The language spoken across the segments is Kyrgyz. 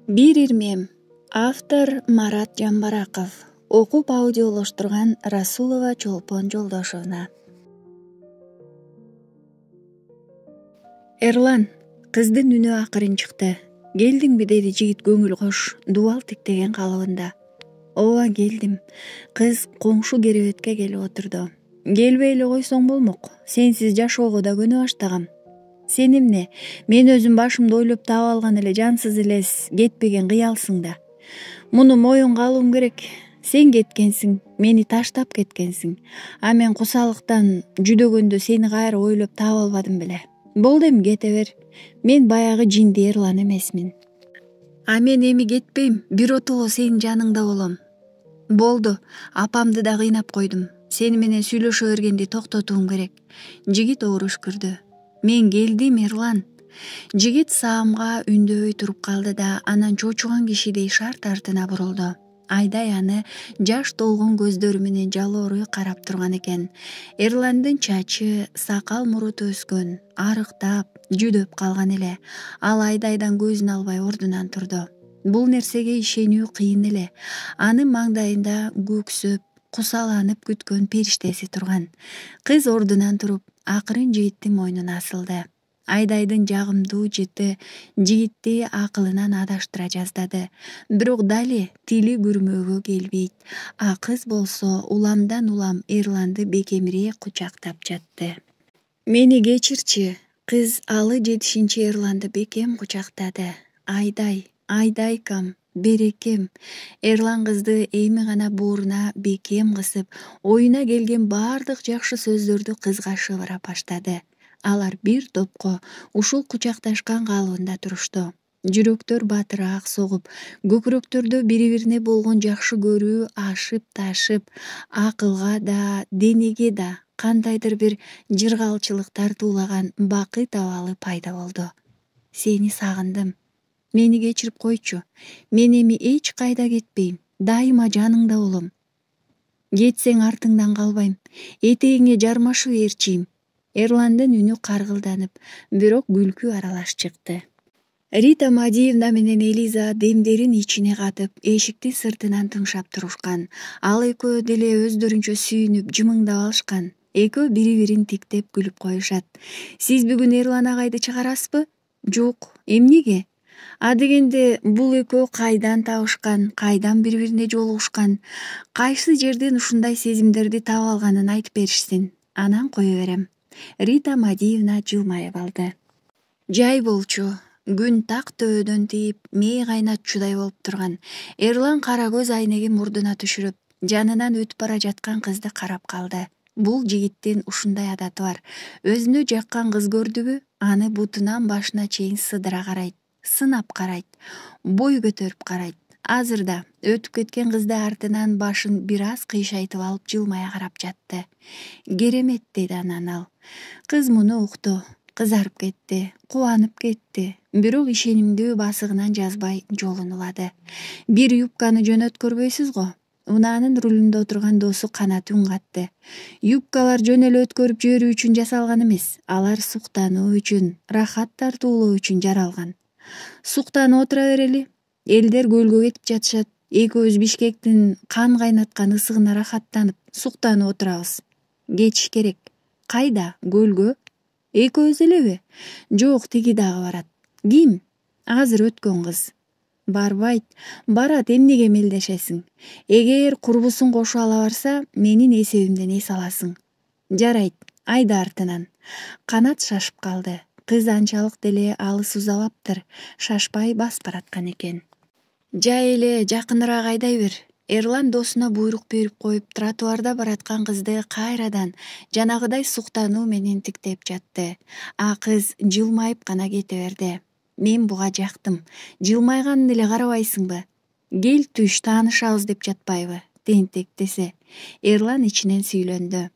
Бир ирмем. Автор Марат Жамбараков. Окуп аудиолоштурган Расулова Чолпон Жолдошовна. Эрлан, кыздын үнү акырын чыкты. Келдиңби деди жигит көңүл кош, дубал тиктеген калыбында. Ооба келдим. Кыз коңшу керебетке келип отурду. Келбей эле койсоң болмок. Сенсиз жашоого да көнө баштагам. Сен эмне? Мен өзүм башымда ойлоп таап алган эле жансыз элес кетпеген кыялсың да. Муну моюнга алуум керек. Сен кеткенсиң, мени таштап кеткенсиң. А мен кусалыктан жүдөгөндө сени кайра ойлоп таап албадым беле. Болду, эми кете бер. Мен баягы жинди Эрлан эмесмин. А мен эми кетпейм, биротоло сенин жаныңда болом. Болду, апамды да кыйнап койдум. Сени менен сүйлөшө бергенди токтотуум керек. Жигит оор үшкүрдү. Мен келдим, Эрлан. Жигит саамга үндөбөй туруп калды да анан чочуган кишидей шарт артына бурулду. Айдай аны жаш толгон көздөрү менен жалоорой карап турган экен. Эрландын чачы, сакал муруту өскөн, арыктап, жүдөп калган эле. Ал Айдайдан көзүн албай ордунан турду. Бул нерсеге ишенүү кыйын эле. Анын маңдайында көксөп, кусаланып күткөн периштеси турган. Кыз ордунан туруп, акырын жигиттин мойнуна асылды. Айдайдын жагымдуу жыты жигитти акылынан адаштыра жаздады. Бирок дали тили күрмөөгө келбейт. А кыз болсо уламдан улам Эрланды бекемирээк кучактап жатты. Мени кечирчи. Кыз алы жетишинче Эрланды бекем кучактады. Айдай, Айдайкам, берекем. Эрлан кызды эми гана бооруна бекем кысып, оюна келген баардык жакшы сөздөрдү кызга шыбыра баштады. Алар бир топко ушул кучакташкан калыбында турушту. Жүрөктөр батыраак согуп, көкүрөктөрдө бири-бирине болгон жакшы көрүү ашып ташып, акылга да, денеге да кандайдыр бир жыргалчылык тартуулаган бакыт абалы пайда болду. Сени сагындым. Мени кечирип койчу. Мен эми эч кайда кетпейм. Дайыма жаныңда болом. Кетсең артыңдан калбайм. Этегиңе жармашып ээрчийм. Эрландын үнү каргылданып, бирок күлкү аралаш чыкты. Рита Мадиевна менен Элиза демдерин ичине катып, эшиктин сыртынан тыңшап турушкан. Ал экөө деле өздөрүнчө сүйүнүп, жымыңдап алышкан. Экөө бири-бирин тиктеп күлүп коюшат. Сиз бүгүн Эрлан агайды чыгарасызбы? Жок, эмнеге? А дегенде бул экөө кайдан табышкан, кайдан бири-бирине жолугушкан, кайсы жерден ушундай сезимдерди таап алганын айтып беришсин. Анан кое берем. Рита Мадиевна жылмайып алды. Жай болчу. Күн так төбөдөн тийип, мээ кайнатчудай болуп турган. Эрлан кара көз айнегин мурдуна түшүрүп, жанынан өтүп бара жаткан кызды карап калды. Бул жигиттин ушундай адаты бар. Өзүнө жаккан кыз көрдүбү, аны бутунан башына чейин сыдыра карайт, сынап карайт, бой көтөрүп карайт. Азыр да өтүп кеткен кызды артынан башын бир аз кыйшайтып алып жылмая карап жатты. Керемет, деди анан ал. Кыз муну укту, кызарып кетти, кубанып кетти. Бирок ишенимдүү басыгынан жазбай жолун улады. Бир юбканы жөнөткөрбөйсүз го? Унаанын рулунда отурган досу Канат үн катты. Юбкалар жөн эле өткөрүп жиберүү үчүн жасалган эмес. Алар суктануу үчүн, рахат тартуулоо үчүн жаралган. Суктанып отура берели. Элдер көлгө кетип жатышат. Экөөбүз Бишкектин кан кайнаткан ысыгына рахаттанып, суктанып отурабыз. Кетиш керек. Кайда? Көлгө? Экөөбүз элеби? Жок, тиги дагы барат. Ким? Азыр өткөн кыз. Барбайт. Барат, эмнеге мелдешесиң? Эгер курбусуң кошо ала барса, менин эсебимден эс аласың. Жарайт, айда артынан. Канат шашып калды. Кыз анчалык деле алыс узабаптыр. Шашпай басып бараткан экен. Жай эле жакыныраак айдай бер. Эрлан досуна буйрук берип коюп, тротуарда бараткан кызды кайрадан жанагыдай суктануу менен тиктеп жатты. А кыз жылмайып гана кете берди. Мен буга жактым. Жылмайганын эле карабайсыңбы? Кел түш, таанышабыз деп жатпайбы? Тентек десе. Эрлан ичинен сүйлөндү.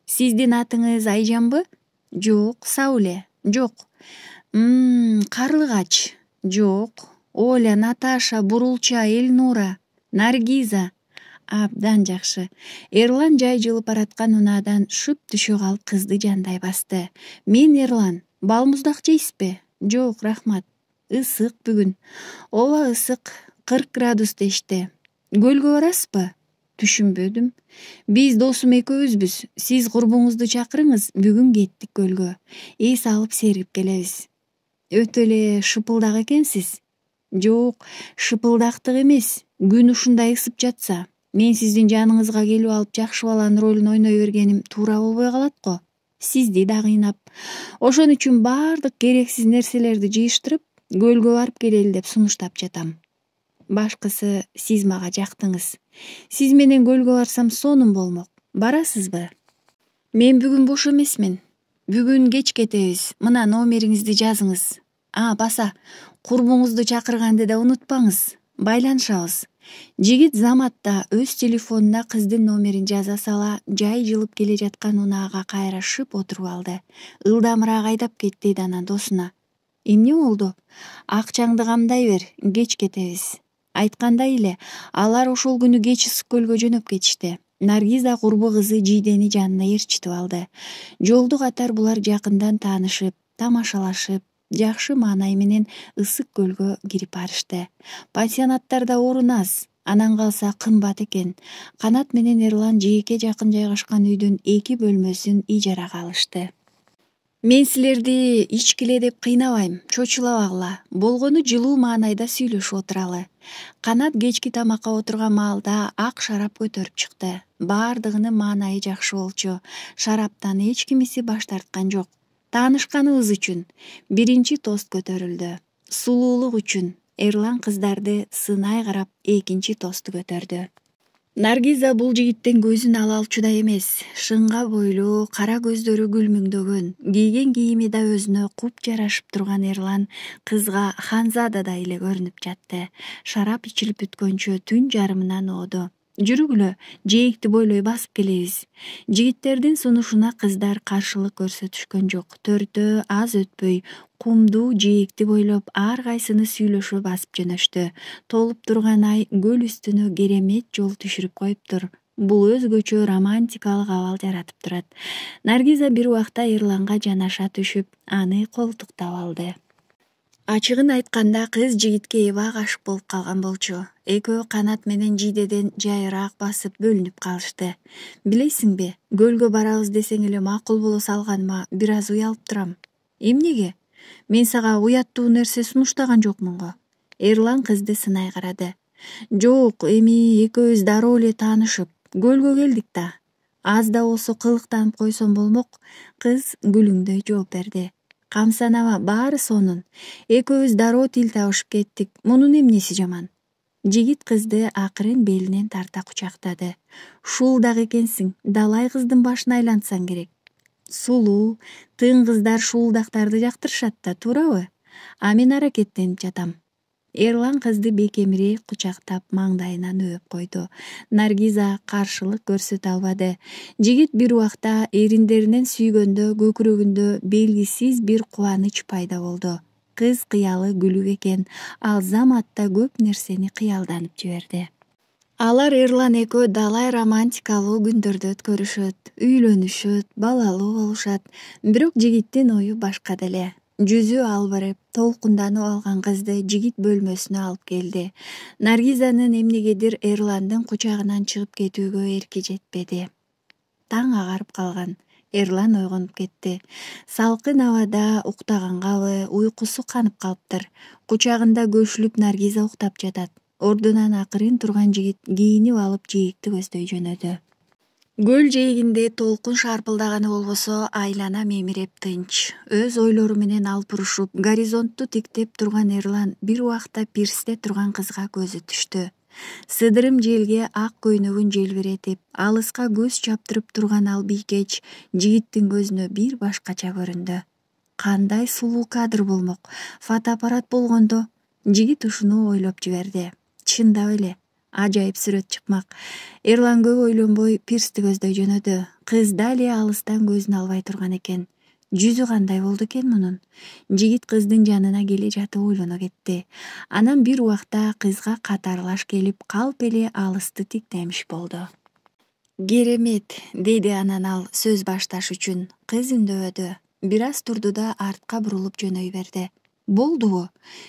Сиздин атыңыз Айжанбы? Жок, Сауле. Жок. Карлыгач. Жок. Оля, Наташа, Бурулча, Эльнура, Наргиза. Абдан жакшы. Эрлан жай жылып бараткан унаадан шүп түшө калып кызды жандай басты. Мен Эрлан. Балмуздак жейсизби? Жок, рахмат. Ысык бүгүн. Ооба ысык, 40 градус дешти. Көлгө барасызбы? Түшүнбөдүм. Биз досум экөөбүзбүз. Сиз курбуңузду чакырыңыз, бүгүн кеттик көлгө. Эс алып серип келебиз. Өтө эле шыпылдак экенсиз. Жок, шыпылдактык эмес. Күн ушундай ысып жатса, мен сиздин жаныңызга келип алып жакшы баланын ролун ойной бергеним туура болбой калат го. Сизди да кыйнап. Ошон үчүн баардык керексиз нерселерди жыйыштырып, көлгө барып келели деп сунуштап жатам. Башкысы сиз мага жактыңыз. Сиз менен көлгө барсам сонун болмок. Барасызбы? Мен бүгүн бош эмесмин. Бүгүн кеч кетебиз. Мына номериңизди жазыңыз. Баса, курбуңузду чакырганды да унутпаңыз. Байланышабыз. Жигит Заматта өз телефонуна кыздын номерин жаза сала, жай жылып келе жаткан унаага кайра шып отуруп алды. Ылдамыраак айдап кет, деди анан досуна. Эмне болду? Акчаңды камдай бер, кеч кетебиз. Айткандай эле, алар ошол күнү кеч ысык көлгө жөнөп кетишти. Наргиза курбу кызы Жийдени жанына ээрчитип алды. Жолду катар булар жакындан таанышып, тамашалашып, жакшы маанай менен ысык көлгө кирип барышты. Пансионаттарда орун аз, анан калса кымбат экен. Канат менен Эрлан жээкке жакын жайгашкан үйдүн 2 бөлмөсүн ижарага алышты. Мен силерди ичкиле деп кыйнабайм, чочулабагыла. Болгону жылуу маанайда сүйлөшүп отуралы. Канат кечки тамакка отурган маалда ак шарап көтөрүп чыкты. Баардыгынын маанайы жакшы болчу. Шараптан эч кимиси баш тарткан жок. Таанышканыбыз үчүн биринчи тост көтөрүлдү. Сулуулук үчүн Эрлан кыздарды сынай карап экинчи тосту көтөрдү. Наргиза бул жигиттен көзүн ала алчудай эмес. Шыңга бойлуу, кара көздөрү күлмүңдөгөн, кийген кийими да өзүнө куп жарашып турган Эрлан кызга ханзададай эле көрүнүп жатты. Шарап ичилип бүткөнчө түн жарымынан ооду. Жүрүгүлө, жээкти бойлой басып келебиз. Жигиттердин сунушуна кыздар каршылык көрсөтүшкөн жок. Төртөө аз өтпөй кумдуу жээкти бойлоп ар кайсыны сүйлөшө басып жөнөштү. Толуп турган ай көл үстүнө керемет жол түшүрүп коюптур. Бул өзгөчө романтикалык абал жаратып турат. Наргиза бир убакта Эрланга жанаша түшүп, аны колтуктап алды. Ачыгын айтканда кыз жигитке эбак ашык болуп калган болчу. Экөө Канат менен Жийдеден жайыраак басып бөлүнүп калышты. Билесиңби, көлгө барабыз десең эле макул боло салганыма бир аз уялып турам. Эмнеге? Мен сага уяттуу нерсе сунуштаган жокмун го. Эрлан кызды сынай карады. Жок, эми экөөбүз дароо эле таанышып, көлгө келдик да. Аз да болсо кылыктанып койсом болмок. Кыз күлүңдөй жооп берди. Камсанама, баары сонун. Экөөбүз дароо тил табышып кеттик. Мунун эмнеси жаман? Жигит кызды акырын белинен тарта кучактады. Шуулдак экенсиң, далай кыздын башын айлантсаң керек. Сулуу, тың кыздар шуулдактарды жактырышат да, туурабы? Мен аракеттенип жатам. Эрлан кызды бекемирээк кучактап маңдайынан өөп койду. Наргиза каршылык көрсөтө албады. Жигит бир убакта эриндеринен сүйгөндө көкүрөгүндө белгисиз бир кубаныч пайда болду. Кыз кыялы күлүк экен, ал Заматта көп нерсени кыялданып жиберди. Алар Эрлан экөө далай романтикалуу күндөрдү өткөрүшөт, үйлөнүшөт, балалуу болушат. Бирок жигиттин ою башка деле. Жүзү албырып, толкунданып алган кызды жигит бөлмөсүнө алып келди. Наргизанын эмнегедир Эрландын кучагынан чыгып кетүүгө эрки жетпеди. Таң агарып калган. Эрлан ойгонуп кетти. Салкын абада уктагангабы, уйкусу канып калыптыр. Кучагында көшүлүп Наргиза уктап жатат. Ордунан акырын турган жигит кийинип алып жээкти көздөй жөнөдү. Көл жээгинде толкун шарпылдаганы болбосо, айлана мемиреп тынч. Өз ойлору менен алпурушуп, горизонтту тиктеп турган Эрлан бир убакта пирсте турган кызга көзү түштү. Сыдырым желге ак көйнөгүн желбиретип, алыска көз чаптырып турган ал бийкеч жигиттин көзүнө бир башкача көрүндү. Кандай сулуу кадр болмок. Фотоаппарат болгондо. Жигит ушуну ойлоп жиберди. Чындап эле, ажайып сүрөт чыкмак. Эрлан көп ойлонбой пирсти көздөй жөнөдү. Кыз дали алыстан көзүн албай турган экен. Жүзү кандай болду экен мунун? Жигит кыздын жанына келе жатып ойлоно кетти. Анан бир убакта кызга катарлаш келип, калп эле алысты тиктемиш болду. Керемет, деди анан ал сөз башташ үчүн. Кыз үндөбөдү. Бир аз турду да артка бурулуп жөнөй берди. Болдубу?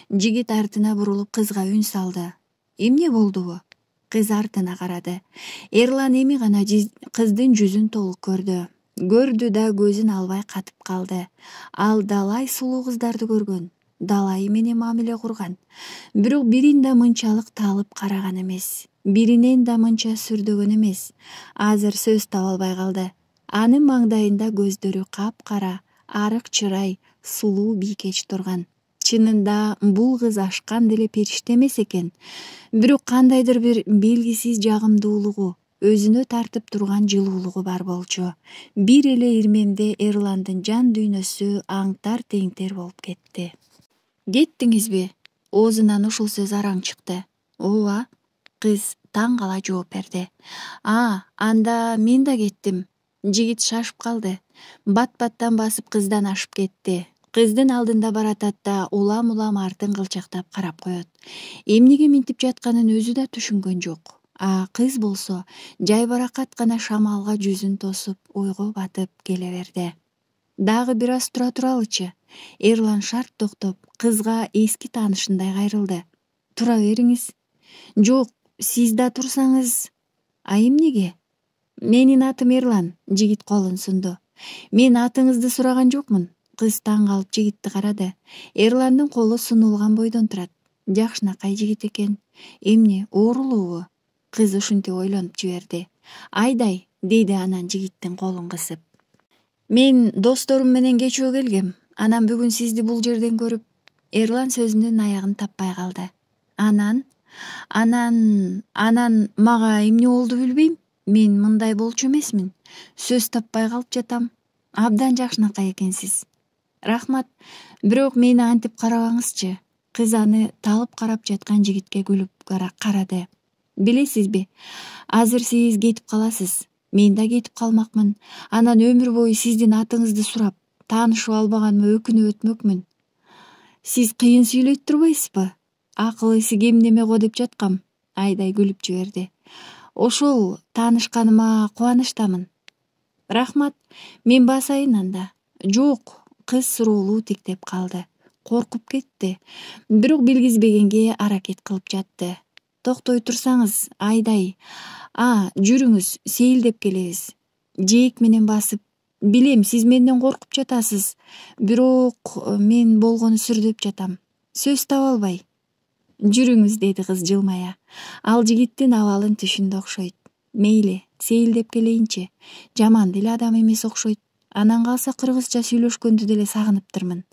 Жигит артына бурулуп кызга үн салды. Эмне болдубу? Кыз артына карады. Эрлан эми гана кыздын жүзүн толук көрдү да көзүн албай катып калды. Ал далай сулуу кыздарды көргөн, далайы менен мамиле курган. Бирок бирин да мынчалык талып караган эмес, биринен да мынча сүрдөгөн эмес. Азыр сөз таба албай калды. Анын маңдайында көздөрү капкара, арык чырай, сулуу бийкеч турган. Чынында бул кыз ашкан деле периште эмес экен. Бирок кандайдыр бир белгисиз жагымдуулугу, өзүнө тартып турган жылуулугу бар болчу. Бир эле ирмемде Эрландын жан дүйнөсү аңтар-теңтер болуп кетти. Кеттиңизби? Оозунан ушул сөз араң чыкты. Ооба, кыз таң кала жооп берди. Анда мен да кеттим. Жигит шашып калды. Бат-баттан басып кыздан ашып кетти. Кыздын алдында баратат да улам артын кылчактап карап коет. Эмнеге минтип жатканын өзү да түшүнгөн жок. Кыз болсо жайбаракат гана шамалга жүзүн тосуп ойго батып келе берди. Дагы бир аз тура туралычы? Эрлан шарт токтоп, кызга эски таанышындай кайрылды. Тура бериңиз. Жок, сиз да турсаңыз. Эмнеге? Менин атым Эрлан, жигит колун сунду. Мен атыңызды сураган жокмун. Кыз таң калып жигитти карады. Эрландын колу сунулган бойдон турат. Жакшынакай жигит экен. Эмне, оорулуубу? Кыз ушинтип ойлонуп жиберди. Айдай, деди анан жигиттин колун кысып. Мен досторум менен кечөө келгем. Анан бүгүн сизди бул жерден көрүп, Эрлан сөзүнүн аягын таппай калды. Анан мага эмне болду билбейм. Мен мындай болчу эмесмин. Сөз таппай калып жатам. Абдан жакшынакай экенсиз. Рахмат, бирок мени антип карабаңызчы. Кыз аны талып карап жаткан жигитке күлүп карады. Билесизби, азыр сиз кетип каласыз. Мен да кетип калмакмын. Анан өмүр бою сиздин атыңызды сурап, таанышып албаганыма өкүнүп өтмөкмүн. Сиз кыйын сүйлөйт турбайсызбы? Акыл эси кем неме го деп жаткам. Айдай күлүп жиберди. Ошол таанышканыма кубанычтамын. Рахмат, мен басайын анда. Жок, кыз суроолуу тиктеп калды. Коркуп кетти. Бирок билгизбегенге аракет кылып жатты. Токтой турсаңыз, Айдай. Жүрүңүз, сейилдеп келебиз. Жээк менен басып. Билем, сиз менден коркуп жатасыз. Бирок мен болгону сүрдөп жатам. Сөз таба албай. Жүрүңүз, деди кыз жылмая. Ал жигиттин абалын түшүндү окшойт. Мейли, сейилдеп келейинчи. Жаман деле адам эмес окшойт. Анан калса кыргызча сүйлөшкөндү деле сагыныптырмын.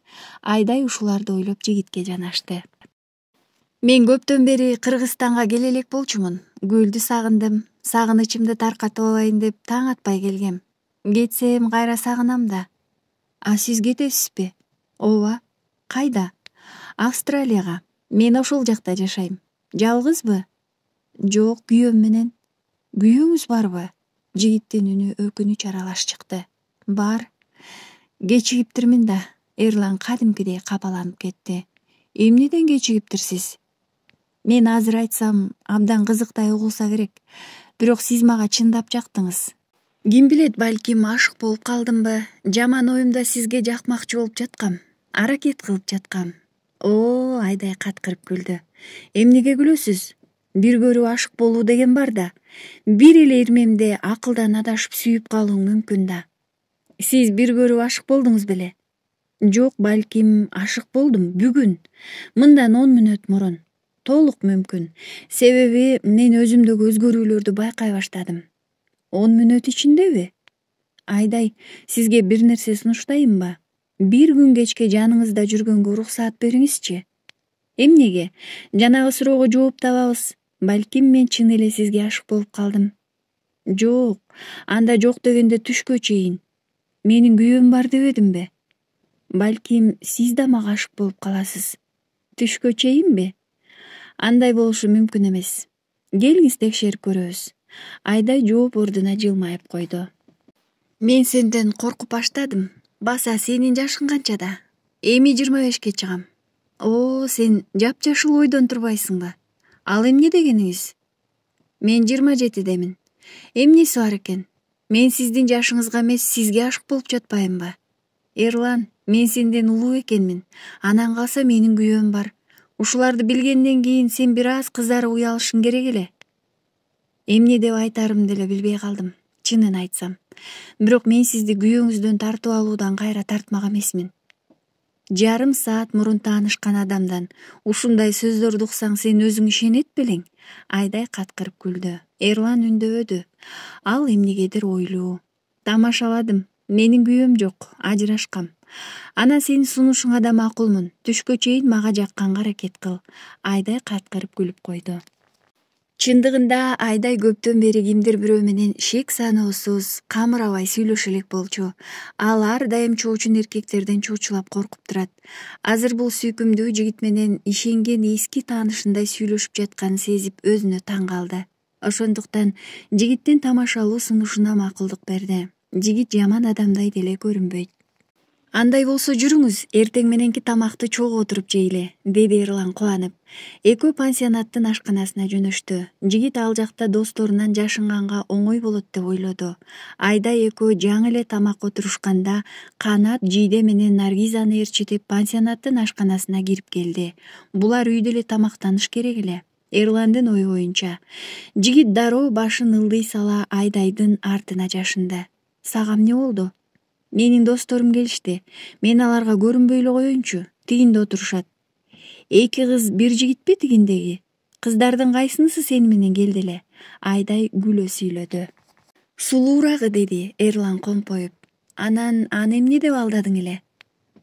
Айдай ушуларды ойлоп жигитке жанашты. Мен көптөн бери Кыргызстанга келе элек болчумун. Көлдү сагындым. Сагынычымды таркатып алайын деп таң атпай келгем. Кетсем кайра сагынам да. Сиз кетесизби? Ооба. Кайда? Австралияга. Мен ошол жакта жашайм. Жалгызбы? Жок, күйөөм менен. Күйөөңүз барбы? Жигиттин үнү өкүнүч аралаш чыкты. Бар. Кечигиптирмин да. Эрлан кадимкидей капаланып кетти. Эмнеден кечигиптирсиз? Мен азыр айтсам абдан кызыктай угулса керек. Бирок сиз мага чындап жактыңыз. Ким билет, балким ашык болуп калдымбы? Жаман оюмда сизге жакмакчы болуп жаткам. Аракет кылып жаткам. Айдай каткырып күлдү. Эмнеге күлөсүз? Бир көрүп ашык болуу деген бар да. Бир эле ирмемде акылдан адашып сүйүп калуу мүмкүн да. Сиз бир көрүп ашык болдуңуз беле? Жок, балким ашык болдум бүгүн. Мындан 10 мүнөт мурун. Толук мүмкүн. Себеби мен өзүмдөгү өзгөрүүлөрдү байкай баштадым. 10 мүнөт ичиндеби? Айдай, сизге бир нерсе сунуштайынбы? Бир күн кечке жаныңызда жүргөнгө уруксаат бериңизчи. Эмнеге? Жанагы суроого жооп табабыз. Балким мен чын эле сизге ашык болуп калдым. Жок, анда жок дегенде түшкө чейин. Менин күйөөм бар дебедимби? Балким сиз да мага ашык болуп каласыз. Түшкө чейинби? Андай болушу мүмкүн эмес. Келиңиз текшерип көрөбүз. Айдай жооп ордуна жылмайып койду. Мен сенден коркуп баштадым. Баса сенин жашың канчада? Эми 25-ке чыгам. Сен жапжашыл ойдон турбайсыңбы? Ал эмне дегениңиз? Мен 27-демин. Эмнеси бар экен? Мен сиздин жашыңызга эмес, сизге ашык болуп жатпаймынбы? Эрлан, мен сенден улуу экенмин. Анан калса менин күйөөм бар. Ушуларды билгенден кийин сен бир аз кызарып уялышың керек эле. Эмне деп айтарымды деле билбей калдым, чынын айтсам. Бирок мен сизди күйөөңүздөн тартып алуудан кайра тартмак эмесмин. Жарым саат мурун таанышкан адамдан ушундай сөздөрдү уксаң сен өзүң ишенет белең? Айдай каткырып күлдү. Эрлан үндөбөдү. Ал эмнегедир ойлуу. Тамашаладым. Менин күйөөм жок, ажырашкам. Анан сенин сунушуңа да макулмун. Түшкө чейин мага жакканга аракет кыл. Айдай каткырып күлүп койду. Чындыгында Айдай көптөн бери кимдир бирөө менен шек саноосуз, камырабай сүйлөшө элек болчу. Ал ар дайым чоочун эркектерден чочулап коркуп турат. Азыр бул сүйкүмдүү жигит менен ишенген эски таанышындай сүйлөшүп жатканын сезип өзүнө таң калды. Ошондуктан жигиттин тамашалуу сунушуна макулдук берди. Жигит жаман адамдай деле көрүнбөйт. Андай болсо жүрүңүз, эртең мененки тамакты чогуу отуруп жейле, деди Эрлан кубанып. Экөө пансионаттын ашканасына жөнөштү. Жигит ал жакта досторунан жашынганга оңой болот деп ойлоду. Айдай экөө жаңы эле тамакка отурушканда Канат, Жийде менен Наргизаны ээрчитип пансионаттын ашканасына кирип келди. Булар үйдө эле тамактаныш керек эле. Эрландын ою боюнча. Жигит дароо башын ылдый сала Айдайдын артына жашынды. Сага эмне болду? Менин досторум келишти. Мен аларга көрүнбөй эле коеюнчу. Тигинде отурушат. Эки кыз бир жигитпи тигиндеги? Кыздардын кайсынысы сени менен келди эле? Айдай күлө сүйлөдү. Сулуурагы, деди Эрлан компоюп. Анан аны эмне деп алдадың эле?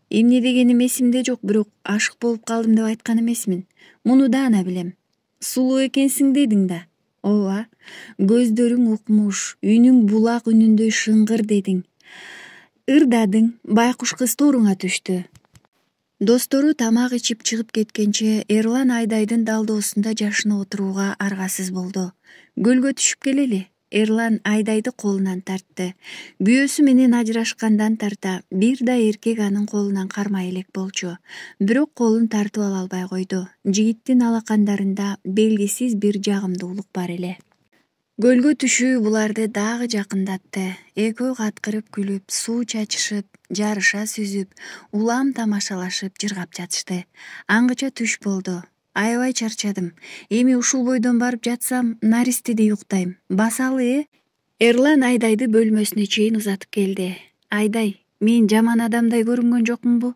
Эмне дегеним эсимде жок, бирок ашык болуп калдым деп айткан эмесмин. Муну даана билем. Сулуу экенсиң дедиң да. Ооба. Көздөрүң укмуш, үнүң булак үнүндөй шыңгыр дедиң. Ырдадың, байкуш кыз тооруңа түштү. Достору тамак ичип чыгып кеткенче Эрлан Айдайдын далдоосунда жашынып отурууга аргасыз болду. Көлгө түшүп келели. Эрлан Айдайды колунан тартты. Күйөөсү менен ажырашкандан тарта бир да эркек анын колунан кармай элек болчу. Бирок колун тартып ала албай койду. Жигиттин алакандарында белгисиз бир жагымдуулук бар эле. Көлгө түшүү буларды дагы жакындатты. Экөө каткырып күлүп, суу чачышып, жарыша сүзүп, улам тамашалашып жыргап жатышты. Аңгыча түш болду. Аябай чарчадым. Эми ушул бойдон барып жатсам, наристеде уктайм. Басалы, Эрлан Айдайды бөлмөсүнө чейин узатып келди. Айдай, мен жаман адамдай көрүнгөн жокмунбу?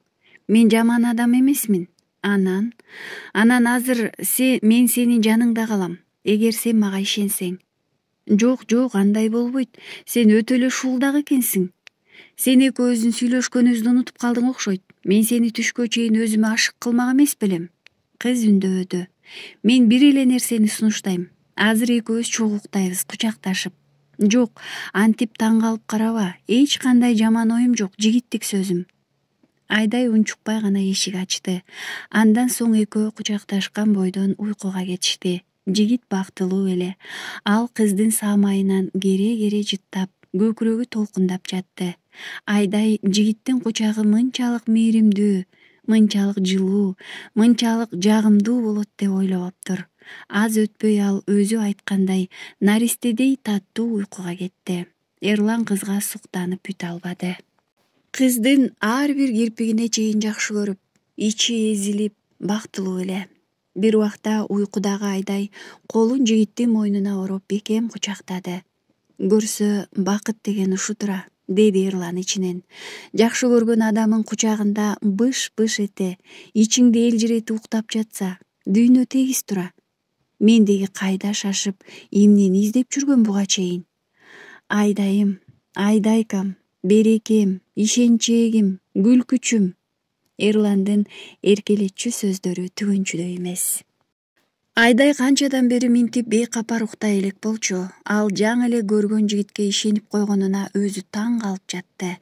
Мен жаман адам эмесмин. Анан азыр мен сенин жаныңда калам. Эгер сен мага ишенсең. Жок, андай болбойт. Сен өтө эле шуулдак экенсиң. Сен экөөбүздүн сүйлөшкөнүбүздү унутуп калдың окшойт. Мен сени түшкө чейин өзүмө ашык кылмак эмес белем. Кыз үндөбөдү. Мен бир эле нерсени сунуштайм. Азыр экөөбүз чогуу уктайбыз, кучакташып. Жок, антип таң калып караба. Эч кандай жаман оюм жок, жигиттик сөзүм. Айдай унчукпай гана эшик ачты. Андан соң экөө кучакташкан бойдон уйкуга кетишти. Жигит бактылуу эле. Ал кыздын саамайынан кере жыттап, көкүрөгү толкундап жатты. Айдай жигиттин кучагы мынчалык мээримдүү, мынчалык жылуу, мынчалык жагымдуу болот деп ойлобоптур. Аз өтпөй ал өзү айткандай наристедей таттуу уйкуга кетти. Эрлан кызга суктанып бүтө албады. Кыздын ар бир кирпигине чейин жакшы көрүп, ичи эзилип, бактылуу эле. Бир убакта уйкудагы Айдай колун жигиттин мойнуна ороп бекем кучактады. Көрсө, бакыт деген ушу тура, деди Эрлан ичинен. Жакшы көргөн адамын кучагында быш-быш эте, ичиңди элжиретип уктап жатса, дүйнө тегиз тура. Мендеги кайда шашып, эмнени издеп жүргөн буга чейин? Айдайым, Айдайкам, берекем, ишенчегим, күлкүчүм. Эрландын эркелетчү сөздөрү түгөнчүдөй эмес. Айдай канчадан бери минтип бейкапар уктай элек болчу. Ал жаңы эле көргөн жигитке ишенип койгонуна өзү таң калып жатты.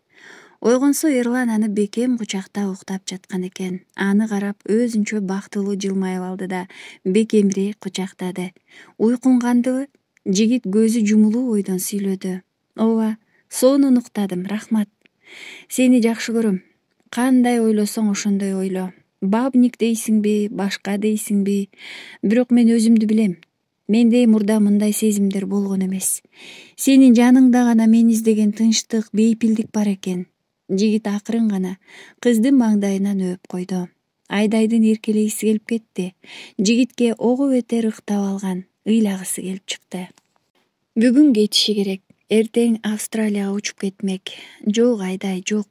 Ойгонсо Эрлан аны бекем кучактап уктап жаткан экен. Аны карап өзүнчө бактылуу жылмайып алды да бекемирээк кучактады. Уйкуңгандыбы? Жигит көзү жумулуу бойдон сүйлөдү. Ооба, сонун уктадым, рахмат. Сени жакшы көрөм. Кандай ойлосоң ошондой ойло. Бабник дейсиңби, башка дейсиңби, бирок мен өзүмдү билем. Менде мурда мындай сезимдер болгон эмес. Сенин жаныңда гана мен издеген тынчтык, бейпилдик бар экен. Жигит акырын гана кыздын маңдайынан өөп койду. Айдайдын эркелегиси келип кетти. Жигитке ого бетер ыктап алган, ыйлагысы келип чыкты. Бүгүн кетиши керек. Эртең Австралияга учуп кетмек. Жок, Айдай, жок.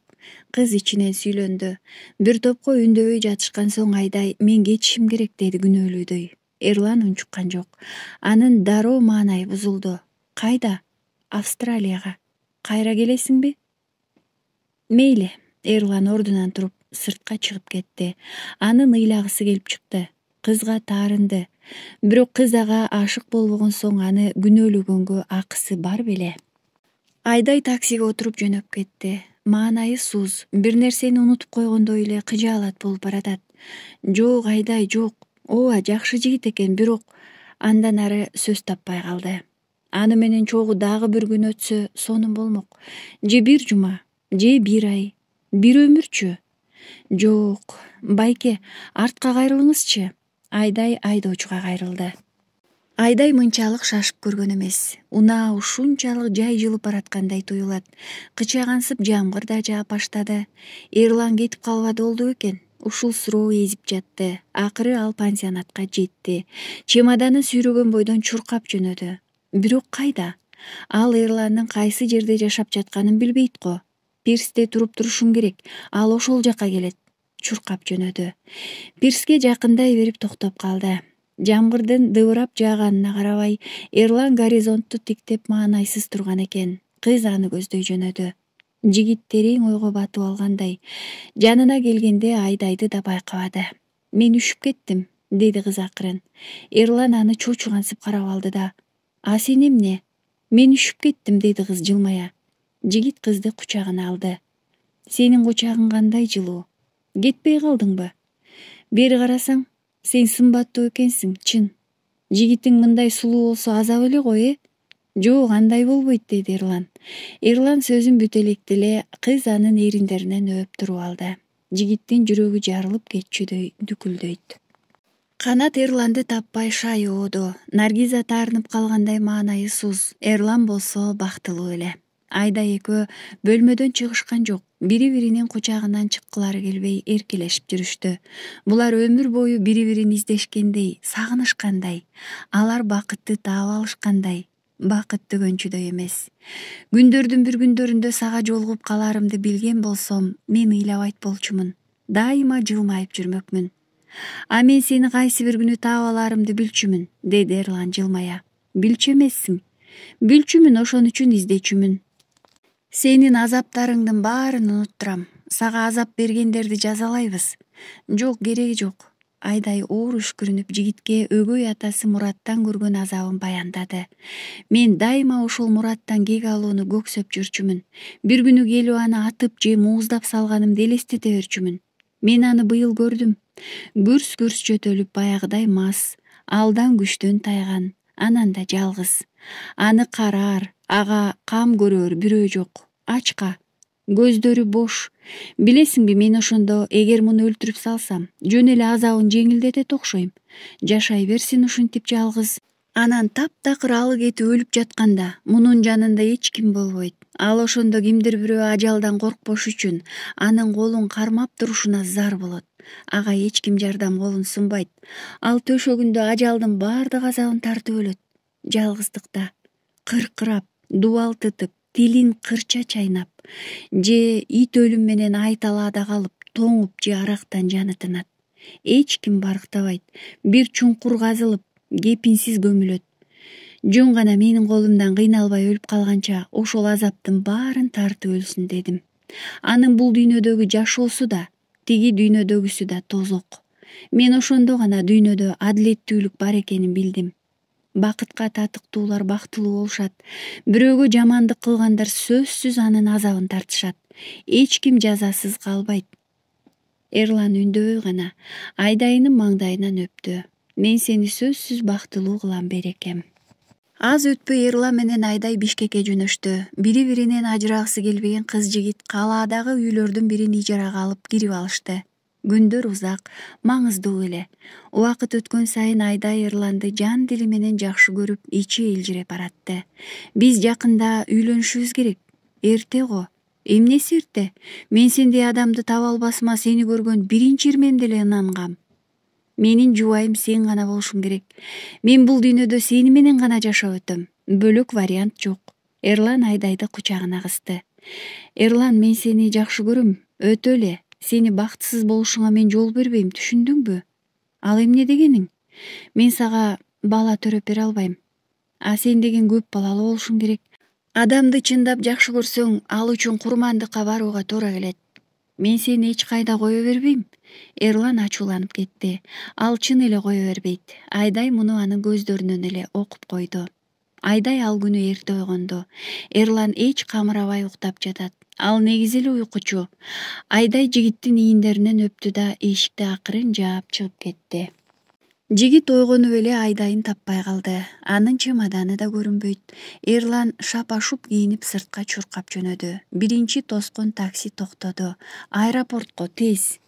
Кыз ичинен сүйлөндү. Бир топко үндөбөй жатышкан соң Айдай мен кетишим керек деди күнөөлүүдөй. Эрлан унчуккан жок. Анын дароо маанайы бузулду. Кайда? Австралияга. Кайра келесиңби? Мейли. Эрлан ордунан туруп сыртка чыгып кетти. Анын ыйлагысы келип чыкты. Кызга таарынды. Бирок кыз ага ашык болбогон соң аны күнөөлөгөнгө акысы бар беле. Айдай таксиге отуруп жөнөп кетти. Маанайы суз, бир нерсени унутуп койгондой эле кыжаалат болуп баратат. Жок, Айдай, жок. Ооба, жакшы жигит экен, бирок андан ары сөз таппай калды. Аны менен чогуу дагы бир күн өтсө сонун болмок. Же бир жума, же бир ай, бир өмүрчү. Жок, байке, артка кайрылыңызчы. Айдай айдоочуга кайрылды. Айдай мынчалык шашып көргөн эмес. Унаа ушунчалык жай жылып бараткандай туюлат. Кычагансып жамгыр да жаап баштады. Эрлан кетип калбады болду экен. Ушул суроо эзип жатты. Акыры ал пансионатка жетти. Чемоданын сүйрөгөн бойдон чуркап жөнөдү. Бирок кайда? Ал Эрландын кайсы жерде жашап жатканын билбейт го. Пирсте туруп турушум керек. Ал ошол жака келет. Чуркап жөнөдү. Пирске жакындай берип токтоп калды. Жамгырдын дыбырап жааганына карабай, Эрлан горизонтту тиктеп маанайсыз турган экен. Кыз аны көздөй жөнөдү. Жигит терең ойго батып алгандай. Жанына келгенде Айдайды да байкабады. Мен үшүп кеттим, деди кыз акырын. Эрлан аны чочугансып карап алды да. А сен эмне? Мен үшүп кеттим, деди кыз жылмая. Жигит кызды кучагына алды. Сенин кучагың кандай жылуу? Кетпей калдыңбы? Бери карасаң, сен сымбаттуу экенсиң, чын. Жигитиң мындай сулуу болсо азап эле го, Жок, андай болбойт, деди Эрлан. Эрлан сөзүн бүтө электе эле кыз анын эриндеринен өөп туруп алды. Жигиттин жүрөгү жарылып кетчүдөй дүкүлдөйт. Канат Эрланды таппай шайооду. Наргиза таарынып калгандай маанайысыз. Эрлан болсо бактылуу эле. Айдай экөө бөлмөдөн чыгышкан жок. Бири-биринин кучагынан чыккылары келбей эркелешип жүрүштү. Булар өмүр бою бири-бирин издешкендей, сагынышкандай. Алар бакытты таап алышкандай. Бакыт төгөнчүдөй эмес. Күндөрдүн бир күндөрүндө сага жолугуп каларымды билген болсом, мен ыйлабайт болчумун. Дайыма жылмайып жүрмөкмүн. А мен сени кайсы бир күнү таап аларымды билчүмүн, деди Эрлан жылмая. Билчү эмессиң? Билчүмүн, ошон үчүн издечүмүн. Сенин азаптарыңдын баарын унуттурам. Сага азап бергендерди жазалайбыз. Жок, кереги жок. Айдай оор үшкүрүнүп жигитке өгөй атасы Мураттан көргөн азабын баяндады. Мен дайыма ошол Мураттан кек алууну көксөп жүрчүмүн. Бир күнү келип аны атып же мууздап салганымды элестете берчүмүн. Мен аны быйыл көрдүм. Гүрс-гүрс жөтөлүп баягыдай мас, алдан күчтөн тайган, анан да жалгыз. Аны караар, ага кам көрөр бирөө жок. Ачка, көздөрү бош. Билесиңби, мен ошондо эгер муну өлтүрүп салсам, жөн эле азабын жеңилдетет окшойм. Жашай берсин ушинтип жалгыз. Анан таптакыр алы кетип өлүп жатканда мунун жанында эч ким болбойт. Ал ошондо кимдир бирөө ажалдан коркпош үчүн анын колун кармап турушуна зар болот. Ага эч ким жардам колун сунбайт. Ал төшөгүндө ажалдын баардык азабын тартып өлөт. Жалгыздыкта, кыркырап, дубалтытып, тилин кырча чайнап, же ит өлүм менен айталаада калып, тоңуп же арактан жаны тынат. Эч ким барктабайт. Бир чуңкур казылып, кепинсиз көмүлөт. Жөн гана менин колумдан кыйналбай өлүп калганча ошол азаптын баарын тартып өлсүн дедим. Анын бул дүйнөдөгү жашоосу да, тиги дүйнөдөгүсү да тозок. Мен ошондо гана дүйнөдө адилеттүүлүк бар экенин билдим. Бакытка татыктуулар бактылуу болушат. Бирөөгө жамандык кылгандар сөзсүз анын азабын тартышат. Эч ким жазасыз калбайт. Эрлан үндөбөй гана Айдайынын маңдайынан өптү. Мен сени сөзсүз бактылуу кылам берекем. Аз өтпөй Эрлан менен Айдай Бишкекке жөнөштү. Бири-биринен ажырагысы келбеген кыз жигит калаадагы үйлөрдүн бирин ижарага алып кирип алышты. Күндөр узак, маңыздуу эле. Убакыт өткөн сайын Айдай Эрланды жан дили менен жакшы көрүп, ичи элжиреп баратты. Биз жакында үйлөнүшүбүз керек. Эрте го. Эмнеси эрте? Мен сендей адамды таба албасыма сени көргөн биринчи ирмемде эле ынангам. Менин жубайым сен гана болушуң керек. Мен бул дүйнөдө сени менен гана жашап өтөм. Бөлөк вариант жок. Эрлан Айдайды кучагына кысты. Эрлан, мен сени жакшы көрөм. Өтө эле. Сени бактысыз болушуңа мен жол бербейм, түшүндүңбү? Ал эмне дегениң? Мен сага бала төрөп бере албайм. А сен деген көп балалуу болушуң керек. Адамды чындап жакшы көрсөң, ал үчүн курмандыкка барууга туура келет. Мен сени эч кайда кое бербейм. Эрлан ачууланып кетти. Ал чын эле кое бербейт. Айдай муну анын көздөрүнөн эле окуп койду. Айдай ал күнү эрте ойгонду. Эрлан эч камырабай уктап жатат. Ал негизи эле уйкучу. Айдай жигиттин ийиндеринен өптү да эшикти акырын жаап чыгып кетти. Жигит ойгонуп эле Айдайын таппай калды. Анын чемоданы да көрүнбөйт. Эрлан шапа-шуп кийинип сыртка чуркап жөнөдү. Биринчи тоскон такси токтоду. Аэропортко тез.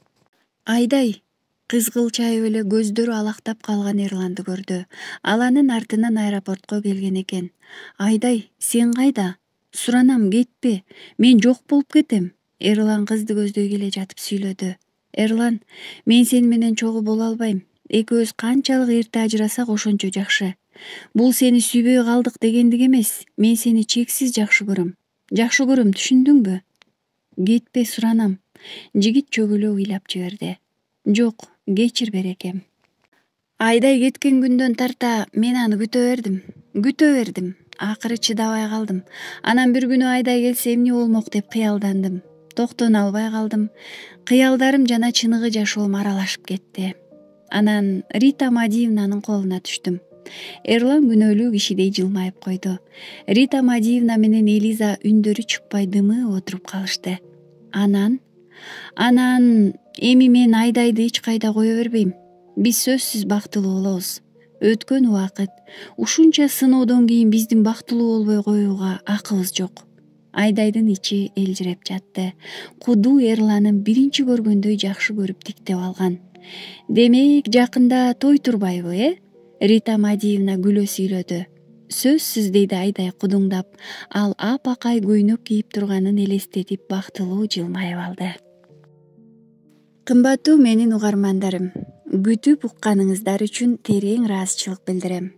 Айдай кызгылчайып эле көздөрү алактап калган Эрланды көрдү. Ал анын артынан аэропортко келген экен. Айдай, сен кайда? Суранам, кетпе. Мен жок болуп кетем. Эрлан кызды көздөй келе жатып сүйлөдү. Эрлан, мен сени менен чогуу боло албайм. Экөөбүз канчалык эрте ажырасак ошончо жакшы. Бул сени сүйбөй калдык дегендик эмес. Мен сени чексиз жакшы көрөм. Жакшы көрөм, түшүндүңбү? Кетпе, суранам. Жигит чөгөлөп ыйлап жиберди. Жок, кечир берекем. Айдай кеткен күндөн тарта мен аны күтө бердим. Акыры чыдабай калдым. Анан бир күнү Айдай келсе эмне болмок деп кыялдандым. Токтоно албай калдым. Кыялдарым жана чыныгы жашоом аралашып кетти. Анан Рита Мадиевнанын колуна түштүм. Эрлан күнөөлүү кишидей жылмайып койду. Рита Мадиевна менен Элиза үндөрү чыкпай дымы отуруп калышты. Анан эми мен Айдайды эч кайда кое бербейм. Биз сөзсүз бактылуу болобуз. Өткөн убакыт. Ушунча сыноодон кийин биздин бактылуу болбой коюуга акыбыз жок. Айдайдын ичи элжиреп жатты. Кудуу Эрланын биринчи көргөндөй жакшы көрүп тиктеп алган. Демек, жакында той турбайбы, Рита Мадиевна күлө сүйлөдү. Сөзсүз, дейди Айдай кудуңдап. Ал апакай көйнөк кийип турганын элестетип бактылуу жылмайып алды. Кымбаттуу менин угармандарым, күтүп укканыңыздар үчүн терең ыраазычылык билдирем.